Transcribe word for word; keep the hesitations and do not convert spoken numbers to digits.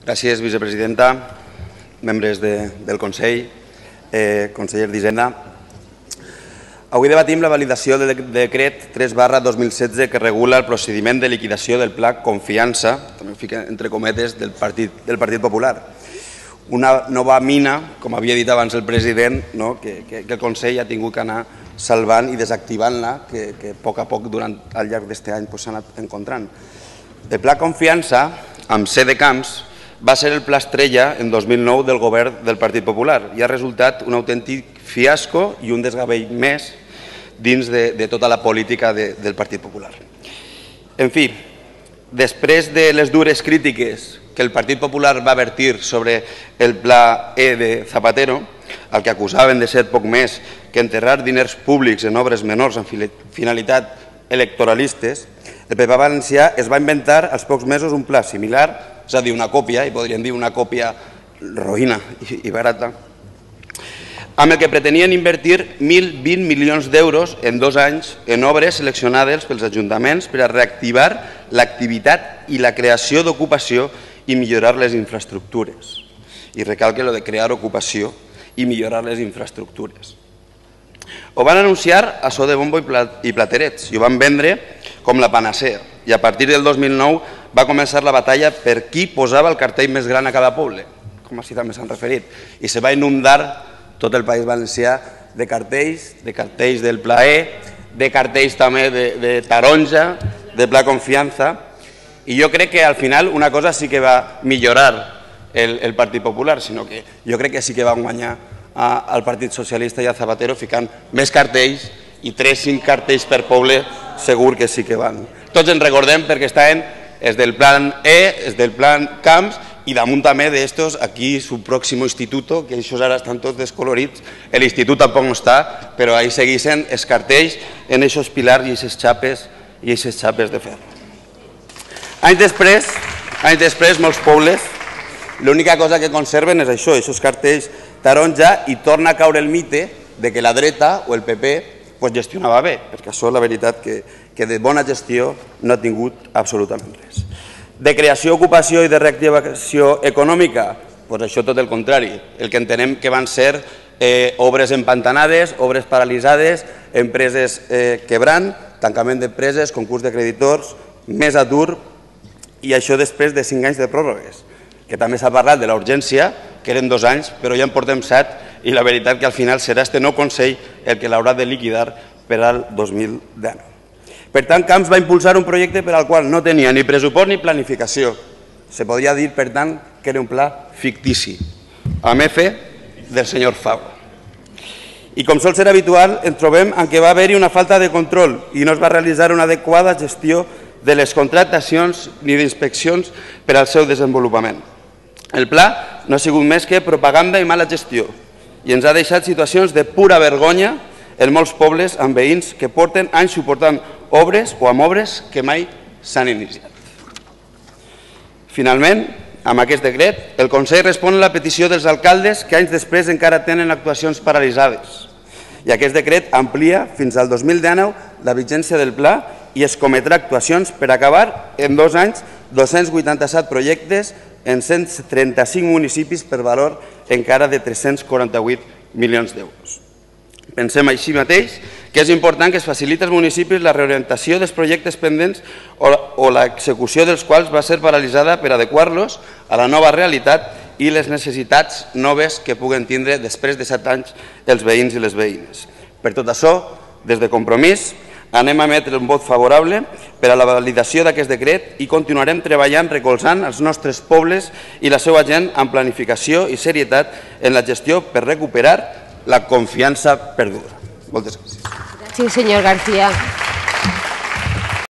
Gràcies, vicepresidenta, membres de, del Consell, eh, conseller d'Hisenda. Avui debatim la validació del decret tres barra dos mil setze que regula el procediment de liquidació del Pla Confiança, també fica entre cometes, del Partit, del Partit Popular. Una nova mina, com havia dit abans el president, no? que, que, que el Consell ha tingut que anar salvant i desactivant-la, que, que a poc a poc durant al llarg d'aquest any s'ha anat encontrant. El Pla Confiança, amb C de Camps, va ser el pla estrella en dos mil nou del govern del Partit Popular i ha resultat un autèntic fiasco i un desgavell més dins de, de tota la política de, del Partit Popular. En fi, després de les dures crítiques que el Partit Popular va vertir sobre el pla E de Zapatero, el que acusaven de ser poc més que enterrar diners públics en obres menors amb finalitat electoralistes, el P P valencià es va inventar als pocs mesos un pla similar, és a dir, una còpia, i podríem dir una còpia roïna i barata, amb el que pretenien invertir mil vint milions d'euros en dos anys en obres seleccionades pels ajuntaments per a reactivar l'activitat i la creació d'ocupació i millorar les infraestructures. I recalque lo de crear ocupació i millorar les infraestructures. Ho van anunciar a so de bombo i platerets i ho van vendre com la panacea. I a partir del dos mil nou va començar la batalla per qui posava el cartell més gran a cada poble, com així també s'han referit. I se va inundar tot el País Valencià de cartells, de cartells del Pla E, de cartells també de, de taronja, de Pla Confiança. I jo crec que al final una cosa sí que va millorar el, el Partit Popular, sinó que jo crec que sí que va guanyar a, al Partit Socialista i a Zapatero ficant més cartells i tres cinc cartells per poble segur que sí que van. Tots ens recordem perquè estaven és del plan E, és del plan Camps i damunt també d'estos aquí su pròximo instituto, que això ara estan tots descolorits, l'institut tampoc no està, però ahí segueixen els cartells en aquests pilars i aquestes xapes i aquestes xapes de ferro. Anys després, anys després, molts pobles, l'única cosa que conserven és això, aquests cartells taronja, i torna a caure el mite de que la dreta o el P P pues gestionava bé, perquè això la veritat que, que de bona gestió no ha tingut absolutament res. De creació, ocupació i de reactivació econòmica, pues això tot el contrari. El que entenem que van ser eh, obres empantanades, obres paralitzades, empreses eh, quebrant, tancament d'empreses, concurs de creditors, més atur, i això després de cinc anys de pròrrogues, que també s'ha parlat de la urgència, que eren dos anys, però ja en portem set, i la veritat que al final serà este nou Consell el que l'haurà de liquidar per al dos mil dinou. Per tant, Camps va impulsar un projecte per al qual no tenia ni pressupost ni planificació. Se podria dir, per tant, que era un pla fictici, amb F del senyor Fabra. I com sol ser habitual, ens trobem en què va haver-hi una falta de control i no es va realitzar una adequada gestió de les contractacions ni d'inspeccions per al seu desenvolupament. El pla no ha sigut més que propaganda i mala gestió i ens ha deixat situacions de pura vergonya en molts pobles amb veïns que porten anys suportant obres o amb obres que mai s'han iniciat. Finalment, amb aquest decret, el Consell respon a la petició dels alcaldes que anys després encara tenen actuacions paralitzades. I aquest decret amplia fins al dos mil dinou la vigència del pla i es cometrà actuacions per acabar en dos anys dos-cents vuitanta-set projectes en cent trenta-cinc municipis per valor encara de tres-cents quaranta-vuit milions d'euros. Pensem així mateix que és important que es faciliti als municipis la reorientació dels projectes pendents o l'execució dels quals va ser paralitzada per adequar-los a la nova realitat i les necessitats noves que puguen tindre després de set anys els veïns i les veïnes. Per tot això, des de Compromís, anem a emetre un vot favorable per a la validació d'aquest decret i continuarem treballant recolzant els nostres pobles i la seva gent amb planificació i serietat en la gestió per recuperar la confiança perduda. Moltes gràcies. Gràcies, senyor García.